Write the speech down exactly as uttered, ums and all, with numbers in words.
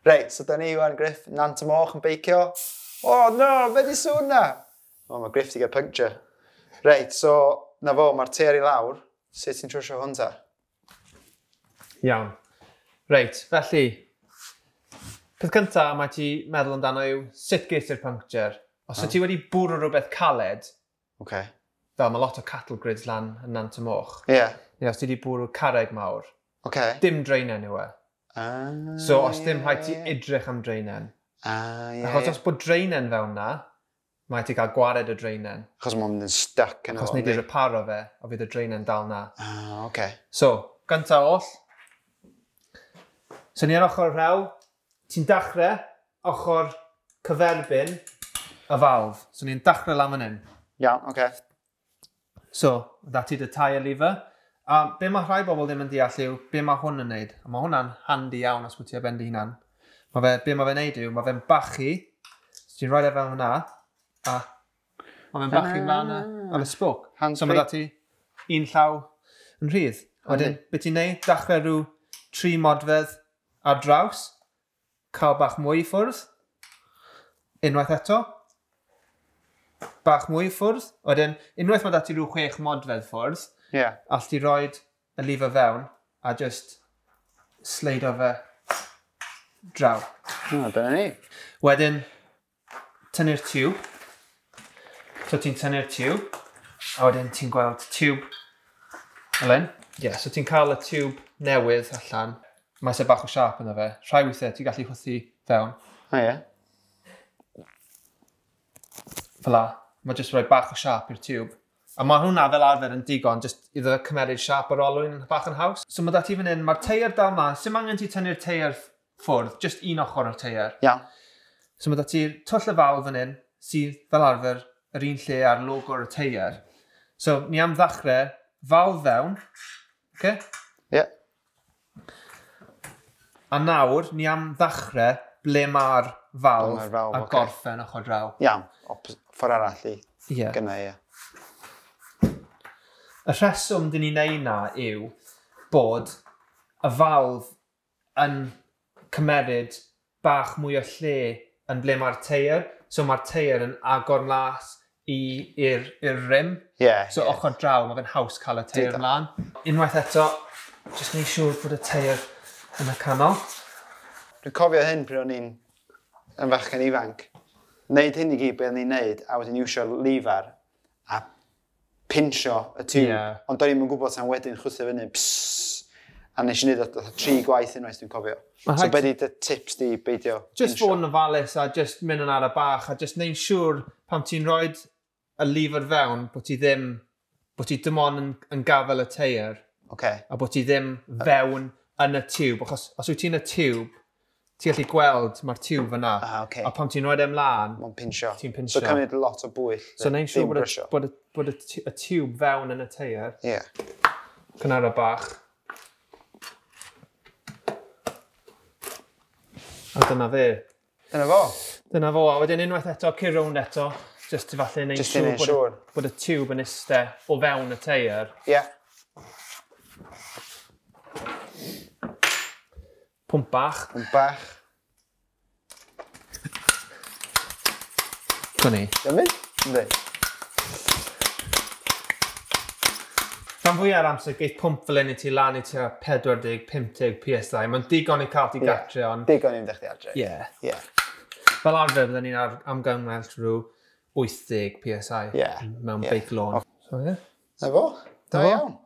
Reit, so da ni wan, Griff, Nant y Moch yn beicio. Oh no, be di sŵn na? O, mae Griff di gael puncture. Reit, so, na fo, mae'r teir i lawr. Sut ti'n trwsio hwn ta? Iawn. Reit, felly, peth cyntaf mae ti meddwl amdano yw sut ges i'r puncture. Os oh. ti wedi bwrw rhywbeth caled, okay. fel mae lot o cattle grids lan yn Nant y Moch, yeah. neu os ti wedi bwrw carreg mawr, okay. dim draenen yw e. Ah, so os dim yeah, rhaid ti yeah. edrych am draenen. Ah, yeah, Achos yeah. os bod draenen fewn na, mae ti cael gwared y draenen. Achos mae'n mynd yn stuck yn Achos nei di reparo fe, o fydd y draenen dal na. Ah, okay. So, gyntaf oll, so ni ar ochr rhew, ti'n dechrau ochr cyferbyn y valve. So ni'n dechrau lan fan hyn. Iawn, oce. Okay. So, that i dy tyre lever. A be mae rhai bobl ddim yn deall yw be mae hwn yn neud. A mae hwnna'n handi iawn os wyt ti ar ben dy hunan. Mae fe, be mae fe'n neud yw, mae fe'n bachu. So ti'n rhoi e fel hwnna, a mae fe'n bachu mlaen ar y spoke. Hands so mae da ti un llaw yn rhydd. Wedyn, be ti'n neud? Dechrau rhyw tri modfedd ar draws, cael bach mwy i ffwrdd, unwaith eto, bach mwy i ffwrdd. Wedyn, unwaith mae da ti rhyw chwech modfedd ffwrdd, yeah. all ti roed y lever fewn a just sleido fe draw. Oh, dyna ni. Wedyn, tynnu'r tiwb. So ti'n tynnu'r tiwb, a wedyn ti'n gweld tiwb fel hyn. Yeah, so ti'n cael y tiwb newydd allan. Mae eisiau bach o siâp yna fe. Rhai weithiau ti'n gallu chwythu fewn. O oh, ie. Yeah. Fel la. Mae jyst rhoi bach o siâp i'r tiwb. A mae hwnna fel arfer yn digon, jyst iddo cymeryd siâp yr olwyn bach yn haws. So mae da ti fan hyn, mae'r teir dal ma, sy'm angen ti tynnu'r teir ffwrdd, jyst un ochr o'r teir. Iawn. So mae da ti'r twll y valve fan hyn, sydd fel arfer yr un lle ar logo'r y teir. So ni am ddechrau, valve fewn, okay? Ie. Yeah. A nawr, ni am ddechrau ble mae'r valve, ma valve a okay. gorffen ochr draw. Iawn, ffordd arall i yeah. gynna, ie. Y rheswm dyn ni'n neud na yw bod y valve yn cymeryd bach mwy o lle yn ble mae'r teir. So mae'r teir yn agor mas i'r rim. Yeah, so yeah. ochr draw, mae fe'n haws cael y teir ymlaen. Unwaith eto, jyst neud siŵr bod y teir yn y canol. Dwi'n cofio hyn pryd o'n i'n yn fachgen ifanc. Neud hyn i gyd be o'n i'n neud, a wedyn iwsio'r lever a pinsio y tiwb, yeah. Ond do'n i'm yn gwybod tan wedyn chwythu fyny, psss, a nes i wneud o tri gwaith unwaith dwi'n cofio. So be di dy tips di beidio Just fod yn ofalus a just mynd yn ara bach a just neud siŵr pan ti'n rhoi y lever fewn bod ti ddim, bod ti dim ond yn, yn gafel y teir. Okay. A bod ti ddim fewn yn y tiwb, achos os wyt ti'n y tiwb, ti'n gallu gweld mae'r tiwb fyna. Ah, okay. A pan ti'n rhoi e ymlaen, mae'n pinsio. Ti'n pinsio. So cymryd lot o bwyll. So neud siŵr bod, y, bod, y, bod y, y tiwb fewn yn y teir. Ie. Yeah. Cynara bach. A dyna fe. Dyna fo. Dyna fo. A wedyn unwaith eto, cur rownd eto, just i falle neud siŵr bod, siŵr. bod y tiwb yn iste o fewn y teir. Ie. Yeah. Pwmp bach. Pwmp bach. Dyna ni. Dwi'n mynd? Yndi. Rhan fwyaf o'r amser, geith pwmp fel hyn i ti lan i tua pedwar deg, pump deg P S I. Mae'n digon i cael ti yeah. gatre, ond... Digon i fynd â chdi adre. Ie. Yeah. Fel arfer, byddwn ni'n amgymell rhyw wyth deg P S I yeah. mewn yeah. beic lôn. Oh. So, ie. Yeah. Na fo. Da iawn.